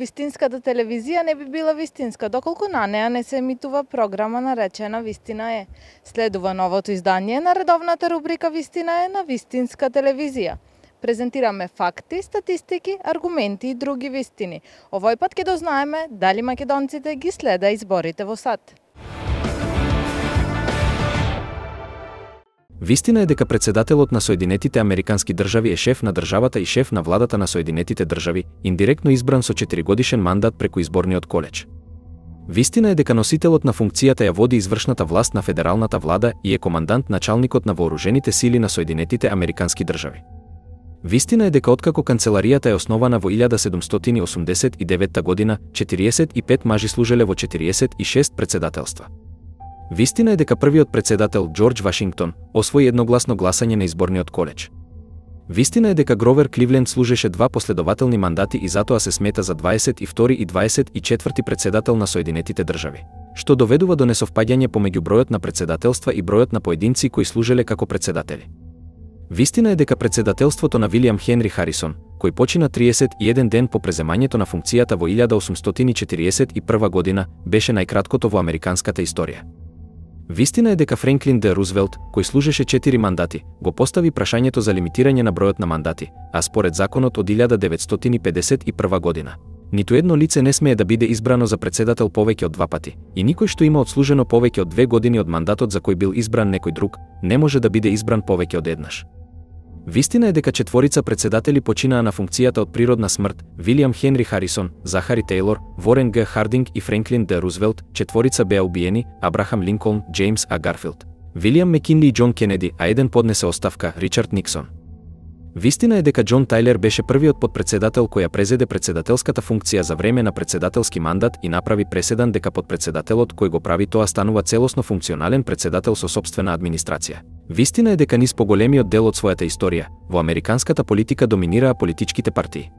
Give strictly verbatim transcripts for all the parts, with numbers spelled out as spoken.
Вистинската телевизија не би била вистинска, доколку на неа не се емитува програма наречена Вистина е. Следува новото издание на редовната рубрика Вистина е на Вистинска телевизија. Презентираме факти, статистики, аргументи и други вистини. Овој пат ќе дознаеме дали македонците ги следа изборите во САД. Вистина е дека председателот на Соединетите Американски држави е шеф на државата и шеф на владата на Соединетите држави, индиректно избран со четиригодишен мандат преку изборниот колеж. Вистина е дека носителот на функцијата ја води извршната власт на федералната влада и е командант началникот на вооружените сили на Соединетите Американски држави. Вистина е дека откако канцеларијата е основана во илјада седумстотини осумдесет и девета година, четириесет и пет мажи служеле во четириесет и шест председателства. Вистина е дека првиот председател Џорџ Вашингтон освои едногласно гласање на изборниот колеж. Вистина е дека Гровер Кливленд служеше два последователни мандати и затоа се смета за дваесет и втори и дваесет и четврти председател на Соединетите држави, што доведува до несовпаѓање помеѓу бројот на председателства и бројот на поединци кои служеле како председатели. Вистина е дека председателството на Вилијам Хенри Харисон, кој почина триесет и еден ден по преземањето на функцијата во илјада осумстотини четириесет и прва година, беше најкраткото во американската историја. Вистина е дека Френклин Д. Рузвелт, кој служеше четири мандати, го постави прашањето за лимитирање на бројот на мандати, а според законот од илјада деветстотини педесет и прва година, ниту едно лице не смее да биде избрано за председател повеќе од два пати, и никој што има одслужено повеќе од две години од мандатот за кој бил избран некој друг, не може да биде избран повеќе од еднаш. Вистина е дека четворица председатели починаа на функцијата од природна смрт: Вилијам Хенри Харисон, Захари Тейлор, Ворен Г. Хардинг и Френклин Д. Рузвелт, четворица беа убиени: Абрахам Линколн, Џејмс А. Гарфилд, Вилијам Мекинли и Џон Кенеди, а еден поднесе оставка: Ричард Никсон. Вистина е дека Џон Тајлер беше првиот подпредседател кој ја презеде председателската функција за време на председателски мандат и направи преседан дека подпредседателот кој го прави тоа станува целосно функционален председател со сопствена администрација. Вистина е дека низ поголемиот дел од својата историја, во американската политика доминираа политичките партии.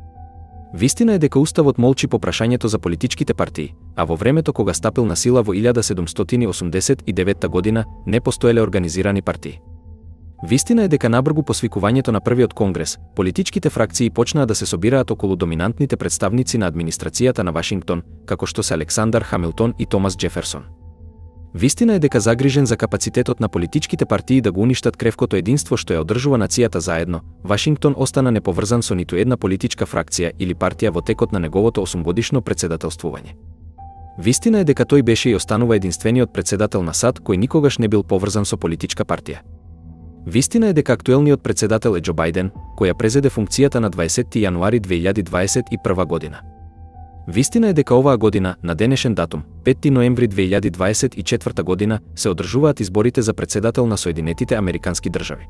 Вистина е дека Уставот молчи по прашањето за политичките партии, а во времето кога стапил на сила во илјада седумстотини осумдесет и девета година, не постоеле организирани партии. Вистина е дека набргу по свикувањето на првиот конгрес, политичките фракции почнаа да се собираат околу доминантните представници на администрацијата на Вашингтон, како што се Александар Хамилтон и Томас Џеферсон. Вистина е дека загрижен за капацитетот на политичките партии да го уништат кревкото единство што ја одржува нацијата заедно, Вашингтон остана неповрзан со ниту една политичка фракција или партија во текот на неговото осумгодишно председателствување. Вистина е дека тој беше и останува единствениот председател на САД кој никогаш не бил поврзан со политичка партија. Вистина е дека актуелниот председател е Џо Бајден, кој ја презеде функцијата на дваесетти јануари две илјади дваесет и прва година. Вистина е дека оваа година, на денешен датум, петти ноември две илјади дваесет и четврта година, се одржуваат изборите за председател на Соединетите Американски држави.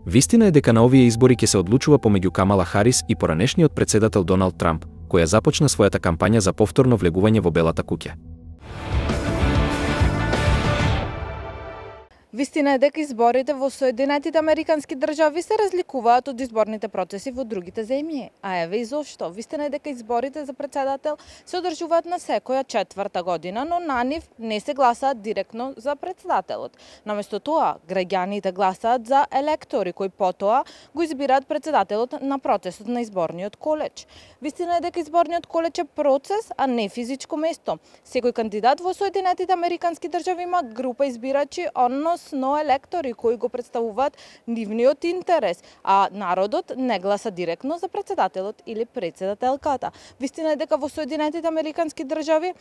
Вистина е дека на овие избори ќе се одлучува помеѓу Камала Харис и поранешниот председател Доналд Трамп, која започна својата кампања за повторно влегување во Белата куќа. Вистина е дека изборите во Соединетите Американски држави се разликуваат од изборните процеси во другите земји. А еве и зошто. Вистина е дека изборите за председател се одржуваат на секоја четврта година, но на нив не се гласаат директно за председателот. Наместо тоа, граѓаните гласаат за електори кои потоа го избираат председателот на процесот на изборниот колеж. Вистина е дека изборниот колеж е процес, а не физичко место. Секој кандидат во Соединетите Американски држави има група избирачи, односно електори кои го представуваат нивниот интерес, а народот не гласа директно за председателот или председателката. Вистина е дека во Соединетите Американски држави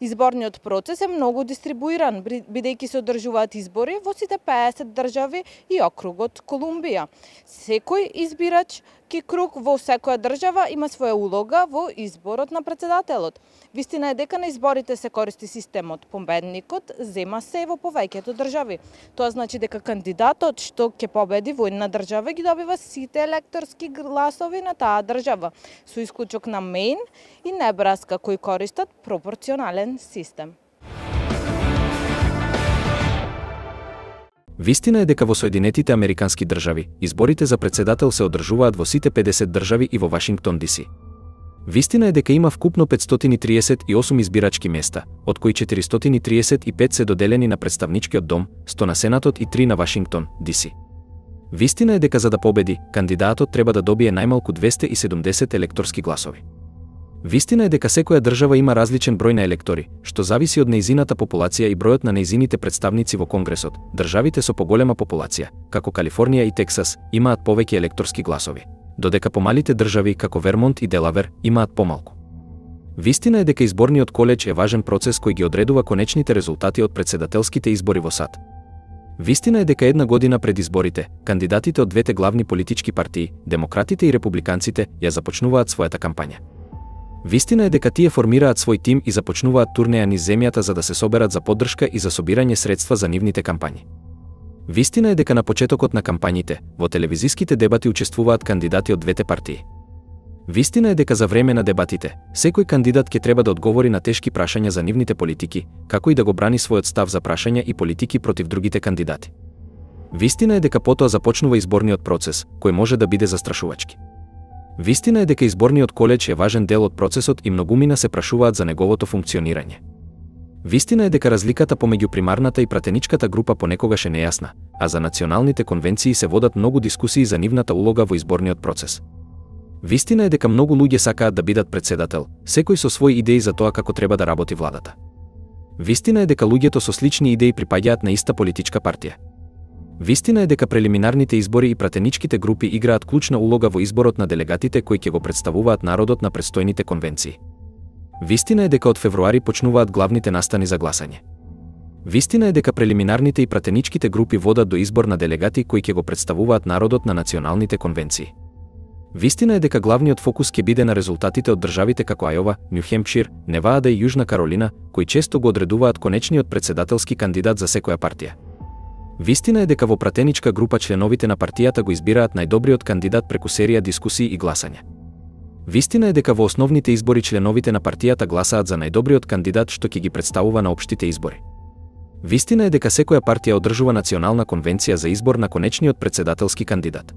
изборниот процес е многу дистрибуиран, бидејќи се одржуваат избори во сите пеесет држави и округот Колумбија. Секој избирач ки круг во секоја држава има своја улога во изборот на председателот. Вистина е дека на изборите се користи системот победникот зема се во повеќето држави. Тоа значи дека кандидатот што ќе победи во една држава ги добива сите електорски гласови на таа држава, со исклучок на Мејн и Небраска кои користат пропорционален систем. Вистина е дека во Соединетите Американски држави изборите за председател се одржуваат во сите педесет држави и во Вашингтон Ди Си. Вистина е дека има вкупно петстотини триесет и осум избирачки места, од кои четиристотини триесет и пет се доделени на представничкиот дом, сто на Сенатот и три на Вашингтон Ди Си. Вистина е дека за да победи, кандидатот треба да добие најмалку двесте и седумдесет електорски гласови. Вистина е дека секоја држава има различен број на електори, што зависи од нејзината популација и бројот на нејзините представници во Конгресот. Државите со поголема популација, како Калифорнија и Тексас, имаат повеќе електорски гласови, додека помалите држави како Вермонт и Делавер имаат помалку. Вистина е дека изборниот колеж е важен процес кој ги одредува конечните резултати од претседателските избори во САД. Вистина е дека една година пред изборите, кандидатите од двете главни политички партии, демократите и републиканците, ја започнуваат својата кампања. Вистина е дека тие формираат свој тим и започнуваат турнеја низ земјата за да се соберат за поддршка и за собирање средства за нивните кампањи. Вистина е дека на почетокот на кампањите, во телевизиските дебати учествуваат кандидати од двете партии. Вистина е дека за време на дебатите, секој кандидат ќе треба да одговори на тешки прашања за нивните политики, како и да го брани својот став за прашања и политики против другите кандидати. Вистина е дека потоа започнува изборниот процес, кој може да биде застрашувачки. Вистина е дека изборниот колеж е важен дел од процесот и многумина се прашуваат за неговото функционирање. Вистина е дека разликата помеѓу примарната и пратеничката група понекогаш е нејасна, а за националните конвенции се водат многу дискусии за нивната улога во изборниот процес. Вистина е дека многу луѓе сакаат да бидат претседател, секој со своји идеи за тоа како треба да работи владата. Вистина е дека луѓето со слични идеи припаѓаат на иста политичка партија. Вистина е дека прелиминарните избори и пратеничките групи играат клучна улога во изборот на делегатите кои ќе го представуваат народот на предстојните конвенции. Вистина е дека од февруари почнуваат главните настани за гласање. Вистина е дека прелиминарните и пратеничките групи водат до избор на делегати кои ќе го представуваат народот на националните конвенции. Вистина е дека главниот фокус ќе биде на резултатите од државите како Ајова, Њу Хемпшир, Невада и Јужна Каролина, кои често го одредуваат конечниот претседателски кандидат за секоја партија. Вистина е дека во пратеничка група членовите на партијата го избираат најдобриот кандидат преку серија дискусии и гласање. Вистина е дека во основните избори членовите на партијата гласаат за најдобриот кандидат што ќе ги представува на општите избори. Вистина е дека секоја партија одржува национална конвенција за избор на конечниот претседателски кандидат.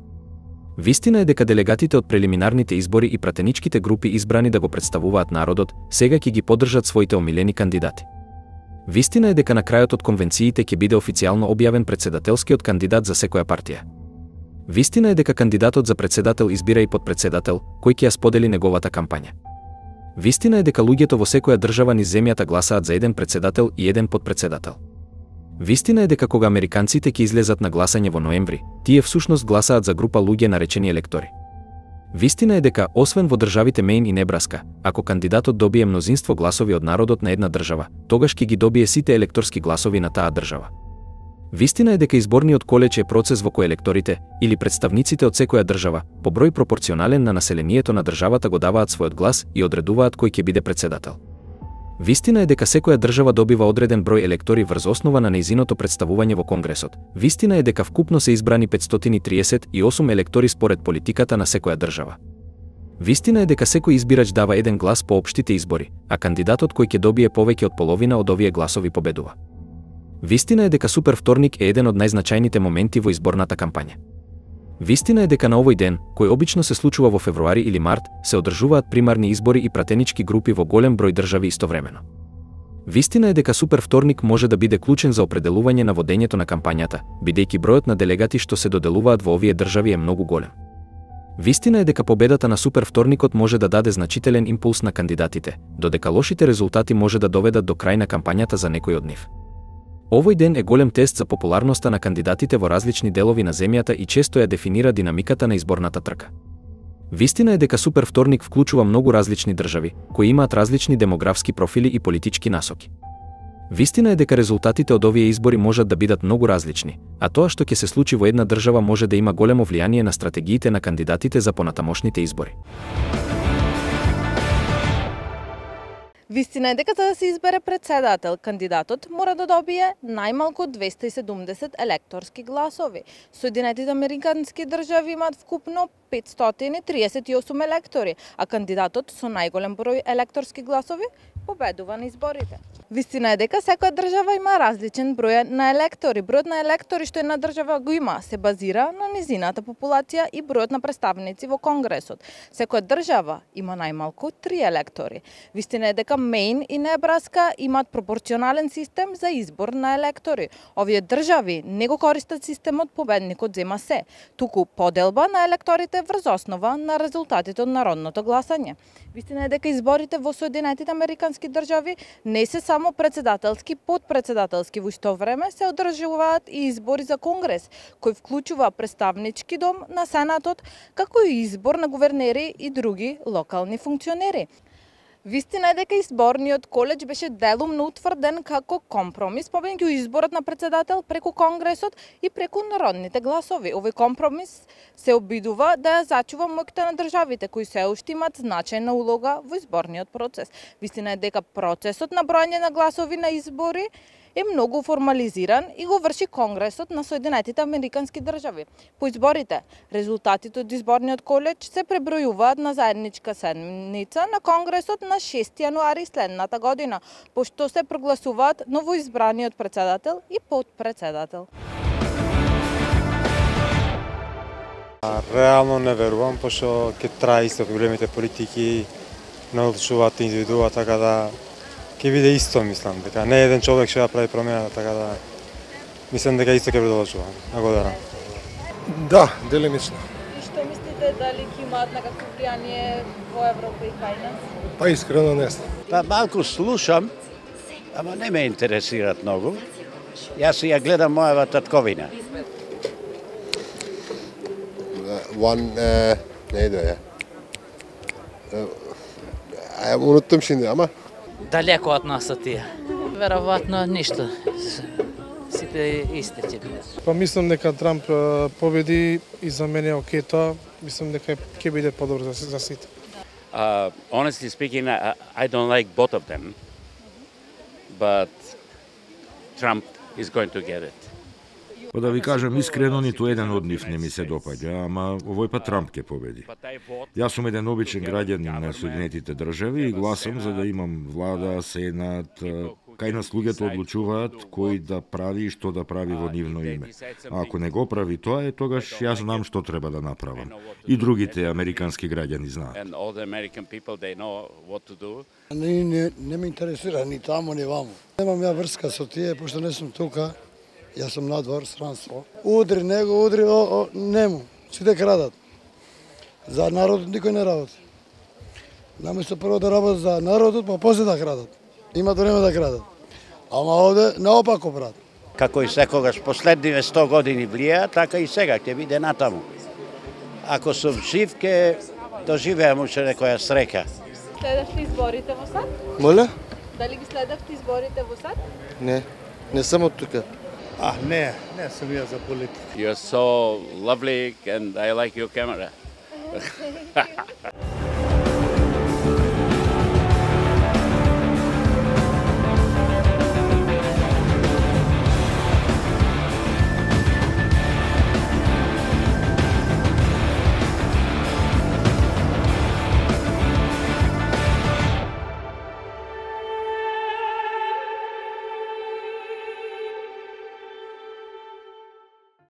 Вистина е дека делегатите од прелиминарните избори и пратеничките групи избрани да го представуваат народот, сега ќе ги поддржат своите омилени кандидати. Вистина е дека на крајот од конвенциите ќе биде официјално објавен претседателскиот кандидат за секоја партија. Вистина е дека кандидатот за претседател избира и подпредседател, кој ќе ја сподели неговата кампања. Вистина е дека луѓето во секоја држава низ земјата гласаат за еден претседател и еден подпредседател. Вистина е дека кога американците ќе излезат на гласање во ноември, тие всушност гласаат за група луѓе наречени електори. Вистина е дека, освен во државите Мејн и Небраска, ако кандидатот добие мнозинство гласови од народот на една држава, тогаш ќе ги добие сите електорски гласови на таа држава. Вистина е дека изборниот колеж е процес во кој електорите, или представниците од секоја држава, по број пропорционален на населението на државата го даваат својот глас и одредуваат кој ќе биде претседател. Вистина е дека секоја држава добива одреден број електори врз основа на нејзиното представување во Конгресот. Вистина е дека вкупно се избрани петстотини и триесет и осум електори според политиката на секоја држава. Вистина е дека секој избирач дава еден глас по општите избори, а кандидатот кој ќе добие повеќе од половина од овие гласови победува. Вистина е дека Супер вторник е еден од најзначајните моменти во изборната кампања. Вистина е дека на овој ден, кој обично се случува во февруари или март, се одржуваат примарни избори и пратенички групи во голем број држави истовремено. Вистина е дека Супер вторник може да биде клучен за определување на водењето на кампањата, бидејќи бројот на делегати што се доделуваат во овие држави е многу голем. Вистина е дека победата на Супер вторникот може да даде значителен импулс на кандидатите, додека лошите резултати може да доведат до крај на кампањата за некој од нив. Овој ден е голем тест за популарноста на кандидатите во различни делови на земјата и често ја дефинира динамиката на изборната трка. Вистина е дека Супер вторник вклучува многу различни држави, кои имаат различни демографски профили и политички насоки. Вистина е дека резултатите од овие избори можат да бидат многу различни, а тоа што ќе се случи во една држава може да има големо влијание на стратегиите на кандидатите за понатамошните избори. Вистина е дека за да се избере претседател, кандидатот мора да добие најмалку двесте и седумдесет електорски гласови. Соединетите американски држави имаат вкупно петстотини и триесет и осум електори, а кандидатот со најголем број електорски гласови победува на изборите. Вистина е дека секоја држава има различен број на електори. Бројот на електори што една држава го има се базира на низината популација и бројот на представници во Конгресот. Секоја држава има најмалку три електори. Вистина е дека Мејн и Небраска имаат пропорционален систем за избор на електори. Овие држави не го користат системот победникот зема се, туку поделба на електорите врз основа на резултатите од народното гласање. Вистина е дека изборите во Соединетите Американски држави не се само председателски, подпредседателски, во исто време се одржуваат и избори за Конгрес, кој вклучува представнички дом на Сенатот, како и избор на гувернери и други локални функционери. Вистина е дека изборниот колеж беше делумно утврден како компромис помеѓу изборот на председател преку Конгресот и преку народните гласови. Овој компромис се обидува да ја зачува моќта на државите кои се уште имаат значајна улога во изборниот процес. Вистина е дека процесот на броење на гласови на избори е многу формализиран и го врши Конгресот на Соединетите Американски држави. По изборите, резултатите од изборниот колеж се пребројуваат на заедничка седница на Конгресот на шести јануари следната година, пошто се прогласуваат новоизбраниот председател и подпредседател. Реално не верувам, пошто ќе трае исто големите политики, не одлучуваат индивидуа, така да ќе биде исто, мислам, дека не еден човек ќе ја прави промена, така да мислам дека исто ќе продолжува. Благодарам. Да, делимично. И што мислите, дали ќе имаат некакво влијание во Европа и кај нас? Па искрено не знам. Па малку слушам, ама не ме интересираат многу. Јас ја гледам мојава татковина. One, uh, neydi o ya? Uh, unuttum şimdi ama. Далеко од нас тие. Веројатно ништо. Сите исти ќе бидат. Па мислам дека Трамп победи и за мене окей тоа. Мислам дека ќе биде подобро за, за сите. Uh, honestly speaking, I, I don't like both of them, but Trump is going to get it. Па да ви кажам искрено, ниту еден од нив не ми се допаѓа, ама овој пат Трамп ќе победи. Јас сум еден обичен граѓанин на Соединетите држави и гласам за да имам влада, сенат, кај нас луѓето одлучуваат кој да прави и што да прави во нивно име. А ако не го прави тоа е, тогаш јас знам што треба да направам. И другите американски граѓани знаат. Не, не, не ме интересира ни таму ни ваму. Немам ја врска со тие, пошто не сум тука. Јас сум надвор, странство. Удри него, удри, о, о, нему. Сите крадат. За народот никој не работи. Наместо прво да работат за народот, па после да крадат. Имат време да крадат. Ама овде наопако, брат. Како и секогаш последниве сто години влија, така и сега ќе биде натаму. Ако сум жив, ќе доживеам уште некоја среќа. Следевте изборите во САД? Моля? Дали ги следевте изборите во САД? Ne, ne sam od tuka. А, не, не сум ја за политика. You're so lovely and I like your camera.